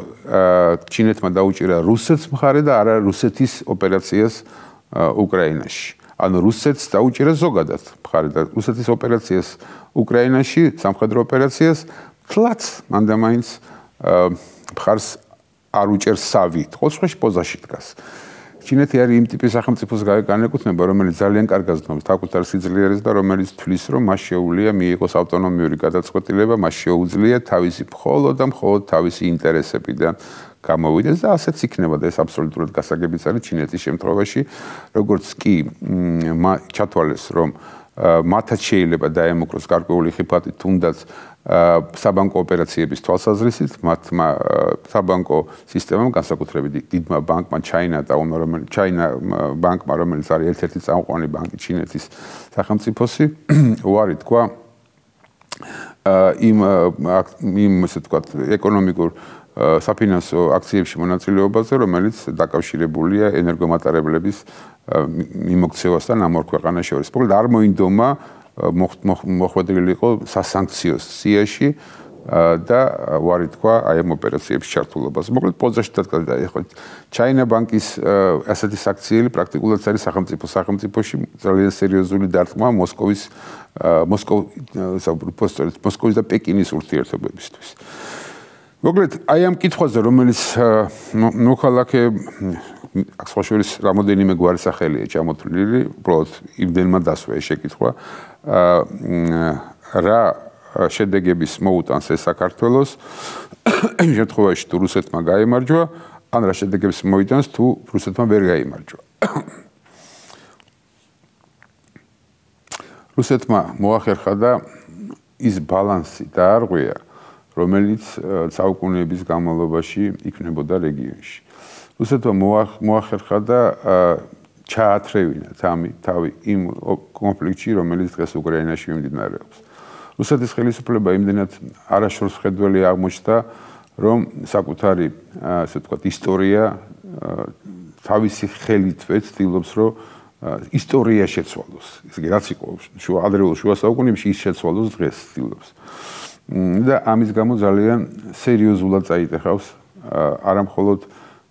ჩინეთმა დაუჭირა რუსეთს მხარი და არა რუსეთის ოპერაციას უკრაინაში. ანუ რუსეთს დაუჭირა ზოგადად მხარი და რუსეთის ოპერაციას უკრაინაში, სამხედრო ოპერაციას თლაც მანდამაინც მხარს არ უჭერს სავი, ყოველ შემთხვევაში პოზაში დგას. ჩინეთი არის იმ ტიპის სახელმწიფოს განეკუთვნება, რომელიც ძალიან კარგად ზნობს საკუთარ სიძლიერეს და რომელიც თვლის, რომ მას შეუძლია მიიღოს ავტონომიური გადაწყვეტილება, მას შეუძლია თავისი მხოლოდ და მხოლოდ თავისი ინტერესებიდან გამოვიდეს და ასეც იქნება და ეს აბსოლუტურად გასაგებიც არის ჩინეთის შემთხვევაში, როგორც კი ჩათვალეს, რომ მათაც შეიძლება დაემუქროს გარკვეული ხიფათი, თუნდაც საბანკო ოპერაციების თვალსაზრისით, მათმა საბანკო სისტემამ, განსაკუთრებით დიდმა ბანკმა ჩაინა ბანკმა, რომელიც არის ერთ-ერთი წამყვანი ბანკი ჩინეთის სახელმწიფოსი, უარი თქვა იმ ესე ვთქვათ, ეკონომიკურ საფინანსო აქციებში მონაწილეობაზე, რომელიც დაკავშირებულია ენერგომატარებლების მიმოქცევასთან ამ ორ ქვეყანას შორის. მოკლედ არ მოინდომა მოხვედრილი იყო სასანქციო სიაში და უარი თქვა აი ამ ოპერაციების ჩართულობას. მოკლედ პოზაში დადგა ეხლა ჩაინა ბანკის ასეთი საქციელი პრაქტიკულად არის სახელმწიფოში ძალიან სერიოზული დარტყმა მოსკოვის და პეკინის ურთიერთობებისთვის. მოკლედ აი ამ კითხვაზე, რომელიც მოქალაქე ახსოვს რამოდენიმე გვარი სახელია ჩამოთვლილი, უბრალოდ იმდენმა დასვა ეს შეკითხვა, რა შედეგების მოუტანს ეს საქართველოს იმ შემთხვევაში თუ რუსეთმა გაიმარჯვა, ან რა შედეგებს მოიტანს თუ რუსეთმა ვერ გაიმარჯვა. რუსეთმა მოახერხა და ის ბალანსი დაარღვია, რომელიც საუკუნეების განმავლობაში იქნებოდა რეგიონში. რუსეთმა მოახერხა და ჩაათრევინა თავი იმ კონფლიქტში, რომელიც დღეს უკრაინაში მიმდინარეობს. რუსეთის ხელისუფლება იმდენად არაშორს ხედველი აღმოჩნდა, რომ საკუთარი, ასე ვთქვათ, ისტორია თავისი ხელითვე ცდილობს, რომ ისტორია შეცვალოს. ესე იგი, რაც იყო ადრეულ შუა საუკუნეებში, ის შეცვალოს დღეს ცდილობს. და ამის გამო ძალიან სერიოზულად წაიტეხავს არა მხოლოდ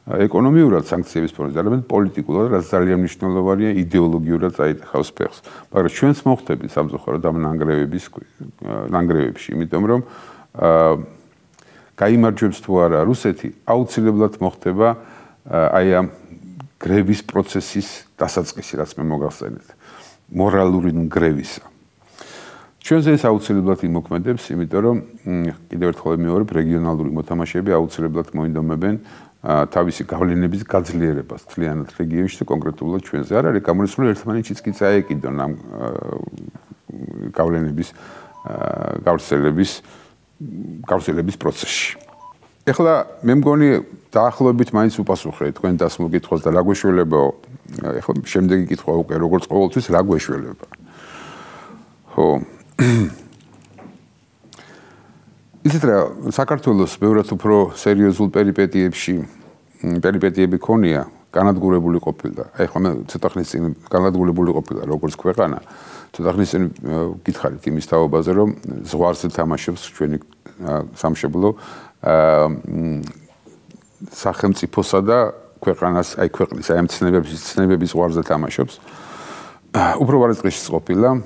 ეკონომიურად სანქციების ფონზე, არამედ პოლიტიკურად, რაც ძალიან მნიშვნელოვანია, იდეოლოგიურად წაიტეხავს ფეხს. მაგრამ ჩვენც მოხდებით სამწუხაროდ ამ ნანგრევებში, იმიტომ რომ გაიმარჯვებს თუ არა რუსეთი, აუცილებლად მოხდება აი ამ გრევის პროცესის დასაწყისი, რაც მე მოგახსენეთ, მორალური გრევისა. ჩვენზე ეს აუცილებლად იმოქმედებს, იმიტომ რომ კიდევ ერთხელ ვიმეორებ, რეგიონალური მოთამაშეები აუცილებლად მოინდომებენ თავისი გავლენების გაძლიერებას მთლიანად რეგიონში და კონკრეტულად ჩვენზე. არ არის გამორიცხული ერთმანეთშიც კი წაეკიდონ ამ გავლენების გავრცელების პროცესში. ეხლა მე მგონი დაახლოებით მაინც უპასუხე თქვენ დასმულ კითხვას და რა გვეშველებაო. ეხლა შემდეგი კითხვა უკვე როგორც ყოველთვის რა გვეშველება. ხო. ისეთ რა საქართველოს ბევრად უფრო სერიოზულ პერიპეტიები ქონია, განადგურებული ყოფილა. ეხლა მე ცოტა ხნის წინ განადგურებული ყოფილა როგორც ქვეყანა. ცოტა ხნის წინ გითხარით იმის თაობაზე, რომ ზღვარზე თამაშობს ჩვენი სამშობლო სახელმწიფოსა და ქვეყანას, აი ქვეყნის, აი ამ ცნებების ზღვარზე თამაშობს. უფრო ვარაცხეში ყოფილა.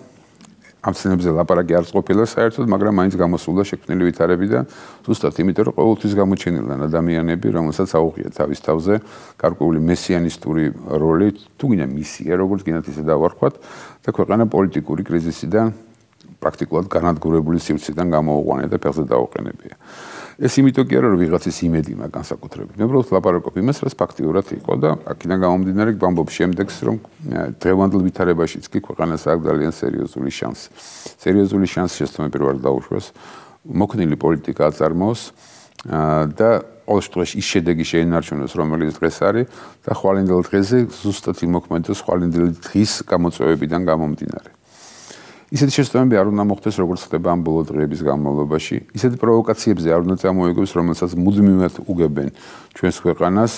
ამ ცნებებზე ლაპარაკი არ ყოფილა საერთოდ, მაგრამ მაინც გამოსულა შექმნილი ვითარები და ზუსტად იმიტომ, რომ ყოველთვის გამოჩენილან ადამიანები, რომელსაც აუღია თავის თავზე გარკვეული მესიანისტური როლი, თუ გინდა მისია, როგორც გინდათ ისე დავარქვათ, და ქვეყანა პოლიტიკური კრიზისიდან პრაქტიკულად განადგურებული სივრციდან გამოუყვანია და ფეხზე დაუყენებია. ეს იმიტომ კი არა, რომ ვიღაცის იმედი მაგ განსაკუთრებით. მე უბრალოდ ლაპარაკობ იმას, რაც ფაქტიურად იყო და აქედან გამომდინარე გვამბობ შემდეგს, რომ დღევანდელ ვითარებაშიც კი ქვეყანას აქვს ძალიან სერიოზული შანსი. სერიოზული შანსი შესაძლოა პირველად დაუშვას, მოქნილი პოლიტიკა აწარმოოს და ყოველ შემთხვევაში ის შედეგი შეინარჩუნოს, რომელიც დღეს არის და ხვალინდელ დღეზე ზუსტად იმოქმედოს ხვალინდელი დღის გამოწვევებიდან გამომდინარე. ისეთი შესაბამები არ უნდა მოხდეს, როგორც ხდება ამ ბოლო დღეების განმავლობაში. ისეთი პროვოკაციებზე არ უნდა წამოიგოს, რომელსაც მუდმივად უგებენ ჩვენს ქვეყანას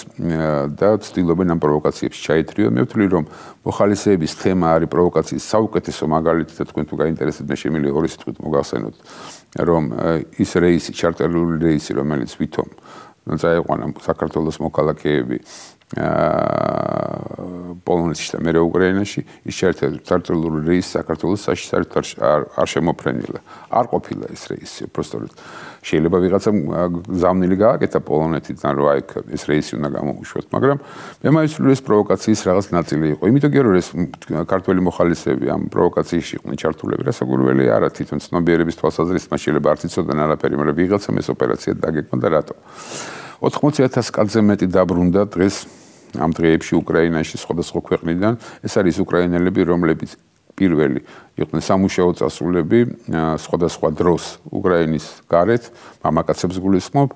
და ცდილობენ ამ პროვოკაციებს ჩაითრიონ. მე ვთვლი, რომ მოხალისეების თემა არის პროვოკაციის საუკეთესო მაგალითი და თქვენ თუ გაინტერესებთ, მე შემიძლია ორი სიტყვით მოგახსენოთ, რომ ის რეისი, ჩარტერული რეისი, რომელიც ვითომ წაიყვანა საქართველოს მოქალაქეები პოლონეთში და მერე უკრაინაში ის ჩართული რეისი საქართველოს საშიში არ შემოფრენილა. არ ყოფილა ეს რეისი, უბრალოდ შეიძლება ვიღაცამ ზამნილი გააკეთა პოლონეთიდან, რომ აი ეს რეისი უნდა გამოუშვათ, მაგრამ მე მაისურვე ეს პროვოკაციის რაღაც ნაწილი იყო. იმიტომ რომ ეს ქართველი მოხალისეები ამ პროვოკაციაში იყვნენ ჩართულები, რასაკვირველი არა, თვითონ ცნობიერების თვალსაზრისით მას შეიძლება არ იცოდნენ არაფერი, მაგრამ ვიღაცამ ეს ოპერაცია დაგეკმა და რატო? 80,000 კაცზე მეტი დაბრუნდა დღეს ამ დღეებში უკრაინაში სხვადასხვა ქვეყნიდან. ეს არის უკრაინელები, რომლებიც პირველი იყვნენ სამუშაო წასულები სხვადასხვა დროს უკრაინის გარეთ, მამაკაცებს გულისხმობ,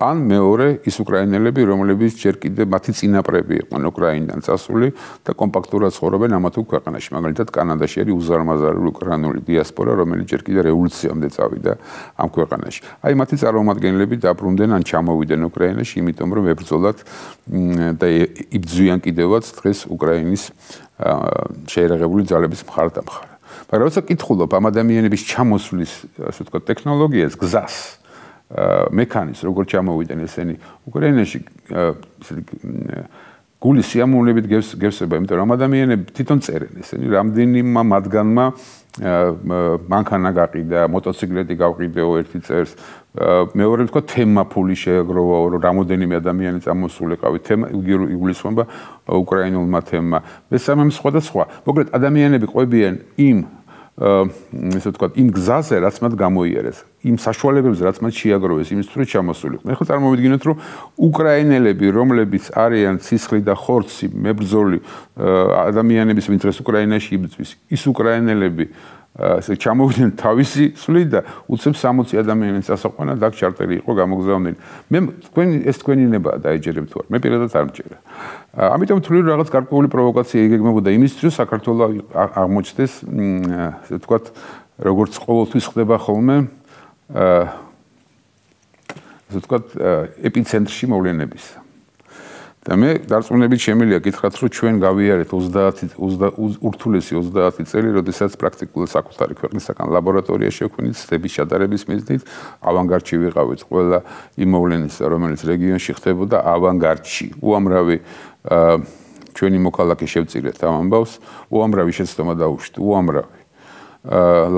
ან მეორე ის უკრაინელები, რომლებიც ჯერ კიდევ მათი წინაპრები იყვნენ უკრაინიდან წასული და კომპაქტურად ცხოვრობენ ამა თუ ქვეყანაში. მაგალითად, კანადაში არის უზარმაზარული უკრაინული დიასპორა, რომელიც ჯერ კიდევ რევოლუციამდე წავიდა ამ ქვეყანაში. აი მათი წარმომადგენლები დაბრუნდნენ ან ჩამოვიდნენ უკრაინაში, იმიტომ რომ ებრძოლათ და იბრძვიან კიდევაც დღეს უკრაინის შეერაღებული ძალების მხარდამხარ. მაგრამ როცა კითხულობ ამ ადამიანების ჩამოსვლის, ასე ვთქვათ, ტექნოლოგიას, გზას, მექანიზმს, როგორ ჩამოვიდნენ ესენი უკრაინაში, გული სიამოვნებით გევსება, იმიტომ რომ ადამიანები თვითონ წერენ ესენი, რამდენიმე მათგანმა მანქანა გაყიდა, მოტოციკლეტი გავყიდეო ერთი წერს, მეორე ვთქვა თემა ფული შეეგროვა, რომ რამოდენიმე ადამიანი წამოსულიყავი, თემა იგულისხმება უკრაინულმა თემმა. მესამე სხვადასხვა. მოკლედ ადამიანები ყვებიან იმ ესე ვთქვათ, იმ გზაზე, რაც მათ გამოიარეს, იმ საშუალებებზე, რაც მათ შეაგროვეს, იმისთვის რომ ჩამოსულიყვნენ. ახლა წარმოვიდგინოთ, რომ უკრაინელები, რომლებიც არიან ცისხლი და ხორცი, მებრძოლი ადამიანების, ვინც დღეს უკრაინაში იბრძვის, ის უკრაინელები ასე ჩამოვიდნენ თავისი სვლით და უცებ 60 ადამიანის ასაყვანად აქ ჩარტერი იყო გამოგზავნილი. მე თქვენი ნება დაეჯერებ თუ არ. მე პირადად არ მჭერა. ამიტომ ვთვლი რომ რაღაც გარკვეული პროვოკაცია იგეგმებოდა იმისთვის, რომ საქართველოს აღმოჩნდეს, ასე ვთქვათ, როგორც ყოველთვის ხდება ხოლმე, ასე ვთქვათ, ეპიცენტრში მოვლენებისა. და მე დარწმუნებით შემიძლია გითხრათ, რომ ჩვენ გავიარეთ ურთულესი 30 წელი, როდესაც პრაქტიკულად საკუთარი ქვეყნისაგან ლაბორატორია შექმნით, ცდების ჩატარების მიზნით, ავანგარდში ვიყავით ყველა იმ მოვლენისა, რომელიც რეგიონში ხდებოდა ავანგარდში. უამრავი ჩვენი მოქალაქე შევწირეთ ამ ამბავს, უამრავი შეცდომა დაუშვით, უამრავი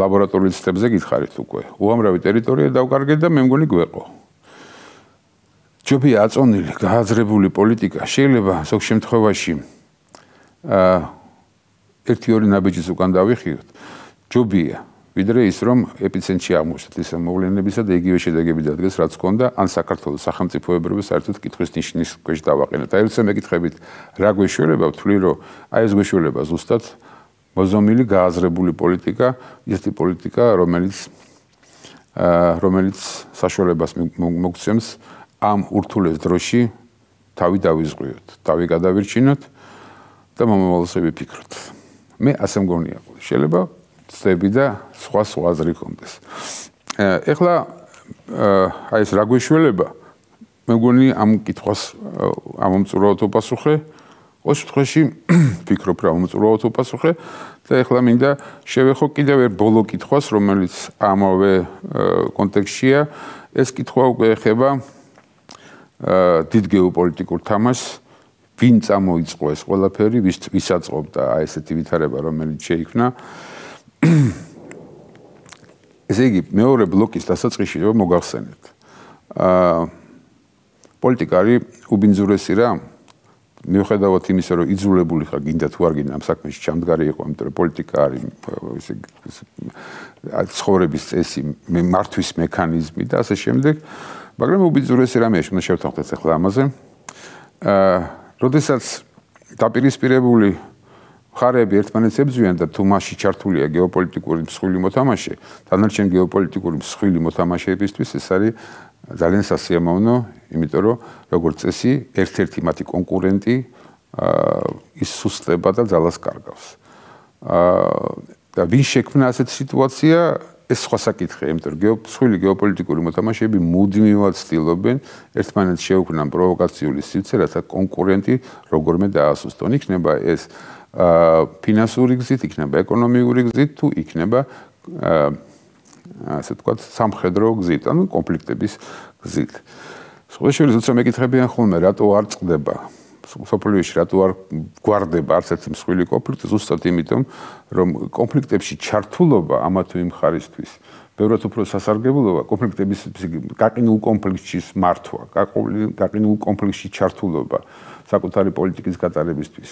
ლაბორატორიის ცდებზე გითხარით უკვე. უამრავი ტერიტორია დავკარგეთ და მე მგონი გვეყო. ჯობია აწონილი, გააზრებული პოლიტიკა შეიძლება ზოგ შემთხვევაში ერთი-ორი ნაბიჯის უკან დავიხიოთ. ჯობია, ვიდრე ის რომ ეპიცენტრში აღმოჩნდეთ ეს მოვლენებისა და იგივე შედეგები დადგეს, რაც ჰქონდა, ან საქართველოს სახელმწიფოებრიობა საერთოდ კითხვის ნიშნის ქვეშ დავაყენოთ. აი როცა მეკითხებით რა გვეშველება, ვთვლი რომ აი ეს გვეშველება ზუსტად მოზომილი გააზრებული პოლიტიკა, ისეთი პოლიტიკა, რომელიც საშუალებას მოგცემს ამ ურთულეს დროში თავი დავიზღვიოთ, თავი გადავირჩინოთ და მომავალზე ვიფიქროთ. მე ასე მგონია, შეიძლება ცდები და სხვა აზრი კონდეს. ეხლა აი ეს რა გვეშველება, მე მგონი ამ კითხვას ამომწურავად ვაპასუხე, ყოველ შემთხვევაში ვფიქრობ რა ამომწურავად ვაპასუხე და ეხლა მინდა შევეხო კიდევ ერთ ბოლო კითხვას, რომელიც ამავე კონტექსტშია. ეს კითხვა უკვე ეხება დიდ გეოპოლიტიკურ თამაშს, ვინ წამოიწყო ეს ყველაფერი, ვის აწყობდა აი ესეთი ვითარება, რომელიც შეიქმნა. ესე იგი, მეორე ბლოკის დასაწყისში რომ მოგახსენეთ. პოლიტიკა არის უბინძურესი რა. მიუხედავად იმისა, რომ იძულებული ხარ გინდა თუ არ გინდა ამ საქმეში ჩამდგარი იყო, იმიტომ რომ პოლიტიკა არის ცხოვრების წესი, მართვის მექანიზმი და ასე შემდეგ. მაგრამ უბინძურესი რამეა, უნდა შევთანხმდეთ ახლა ამაზე. როდესაც დაპირისპირებული მხარეები ერთმანეთს ებრძვიან და თუ მასში ჩართულია გეოპოლიტიკური მსხვილი მოთამაშე, დანარჩენ გეოპოლიტიკური მსხვილი მოთამაშეებისთვის ეს არის ძალიან სასიამოვნო, იმიტომ რომ როგორც წესი, ერთ-ერთი მათი კონკურენტი ის სუსტება და ძალას კარგავს. და ვინ შექმნა ასეთ სიტუაცია, ეს სხვა საკითხია, იმიტომ რომ მსხვილი გეოპოლიტიკური მოთამაშეები მუდმივად ცდილობენ ერთმანეთს შეუქმნან პროვოკაციული სივრცე, რათა კონკურენტი როგორმე დაასუსტონ. იქნება ეს ფინანსური გზით, იქნება ეკონომიკური გზით, თუ იქნება ასე ვთქვათ, სამხედრო გზით, ანუ კონფლიქტების გზით. სხვა შორის როცა მეკითხებიან ხოლმე, რატო არ წყდება სოფლიოში რატო არ გვარდება არც ერთი მსხვილი კონფლიქტი, ზუსტად იმიტომ, რომ კონფლიქტებში ჩართულობა ამა თუ იმ ხარისთვის ბევრად უფრო სასარგებლოა კონფლიქტების გაყინულ კონფლიქტის მართვა, გაყინულ კონფლიქტში ჩართულობა საკუთარი პოლიტიკის გატარებისთვის.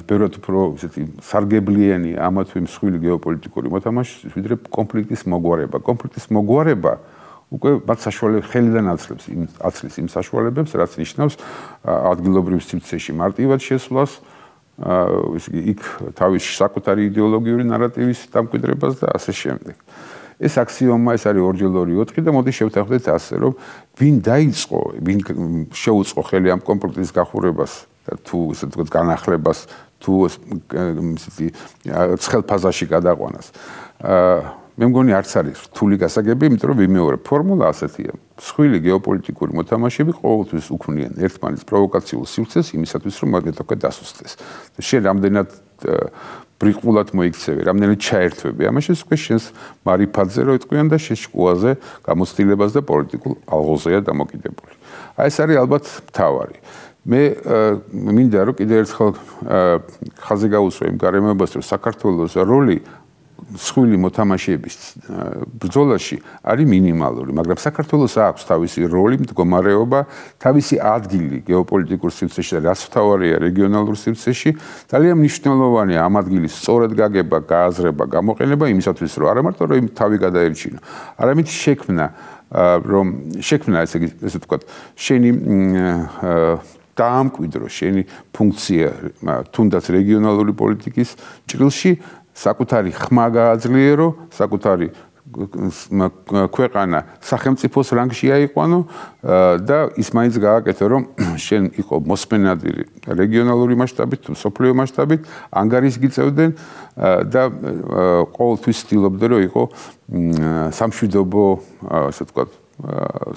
ბევრად უფრო ისეთი სარგებლიანი ამა თუ იმ მსხვილი გეოპოლიტიკური მოთამაშისთვის, ვიდრე კონფლიქტის მოგვარება. კონფლიქტის მოგვარება უკვე მათ საშუალებას ხელიდან აცლის იმ საშუალებებს, რაც ნიშნავს ადგილობრივ სივრცეში მარტივად შესვლას, იქ თავის საკუთარი იდეოლოგიური ნარატივის დამკვიდრებას და ასე შემდეგ. ეს აქსიომა, ეს არის 2-2-4 და მოდი შევთანხმდეთ ასე, რომ ვინ დაიწყო, ვინ შეუწყო ხელი ამ კონფლიქტის გახურებას თუ ისე ვთქვათ განახლებას, თუ ისეთი ცხელფაზაში გადაყვანას. მე მგონი არც არის რთული გასაგები, იმიტომ რომ ვიმეორებ, ფორმულა ასეთია. მსხვილი გეოპოლიტიკური მოთამაშეები ყოველთვის უქმნიან ერთმანეთს პროვოკაციულ სივრცეს იმისათვის, რომ მათ ეთქვათ დასუსტეს. შენ რამდენად ბრიყულად მოიქცევი, რამდენად ჩაერთვები. ამაში უკვე შენს მარიფატზე რო იტყვიან და შენ შკუაზე გამოცდილებას და პოლიტიკულ ალღოზეა დამოკიდებული. აი ეს არის ალბათ მთავარი. მე მინდა რომ კიდევ ერთხელ ხაზი გაუსვა იმ გარემოებას, რომ საქართველოს როლი მსხვილი მოთამაშეების ბრძოლაში არის მინიმალური, მაგრამ საქართველოს აქვს თავისი როლი, მდგომარეობა, თავისი ადგილი გეოპოლიტიკურ სივრცეში და რაც მთავარია რეგიონალურ სივრცეში, ძალიან მნიშვნელოვანია ამ ადგილის სწორად გაგება, გააზრება, გამოყენება იმისათვის, რომ არა მარტო რომ თავი გადაერჩინო, არამედ შექმნა ესე ვთქვათ, შენი დაამკვიდრო შენი ფუნქცია თუნდაც რეგიონალური პოლიტიკის ჭრილში საკუთარი ხმა გააძლიერო, საკუთარი ქვეყანა სახელმწიფოს რანგში აიყვანო და ის მაინც გააკეთო, რომ შენ იყო მოსმენადი რეგიონალური მასშტაბით თუ სოფლიო მასშტაბით, ანგარიშს გიწევდნენ და ყოველთვის ცდილობდნენ, რომ იყო სამშვიდობო, ასე ვთქვათ,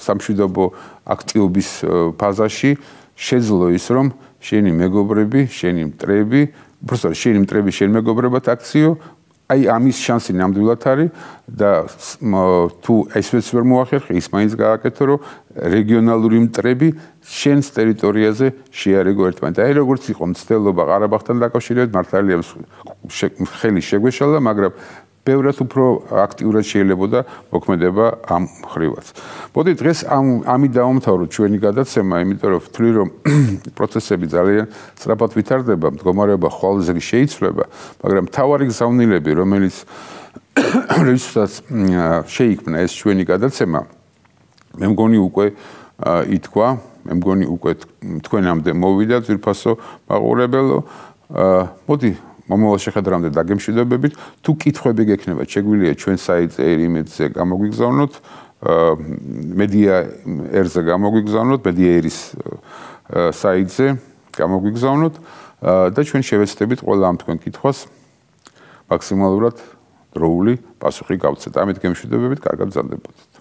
სამშვიდობო აქტივობის ფაზაში შეძლო ის, რომ შენი მეგობრები, შენი მტრები უბრალოდ შენი მტრები შენ მეგობრებად აქციო, აი ამის შანსი ნამდვილად არის და თუ ესეც ვერ მოახერხე, ის მაინც გააკეთო, რომ რეგიონალური მტრები შენს ტერიტორიაზე შეარიგო ერთმანეთს. აი როგორც იყო მცდელობა ყარაბაღთან დაკავშირებით, მართალია ხელი შეგვეშალა, მაგრამ ბევრად უფრო აქტიურად შეიძლებოდა მოქმედება ამ ხრივაც. მოდი დღეს ამით დავამთავროთ ჩვენი გადაცემა, იმიტომ რომ ვთვლი, რომ პროცესები ძალიან სწრაფად ვითარდება, მდგომარეობა ხვალზე შეიცვლება, მაგრამ მთავარი გზავნილები, რომელსაც შეიქმნა ეს ჩვენი გადაცემა, მე მგონი უკვე ითქვა, მე მგონი უკვე თქვენამდე მოვიდა ძვირფასო მაყურებელო. მოდი მომავალ შეხვედრამდე დაგემშვიდობებით. თუ კითხვები გექნება, შეგვიძლია ჩვენ საიტზე ერ-იმედზე გამოგვიგზავნოთ, media.er-ზე გამოგვიგზავნოთ, media.er-ის საიტზე გამოგვიგზავნოთ და ჩვენ შევეცდებით ყველა ამ თქვენ კითხვას მაქსიმალურად დროული პასუხი გავცეთ. ამით გემშვიდობებით, კარგად გრძელდებოდეთ.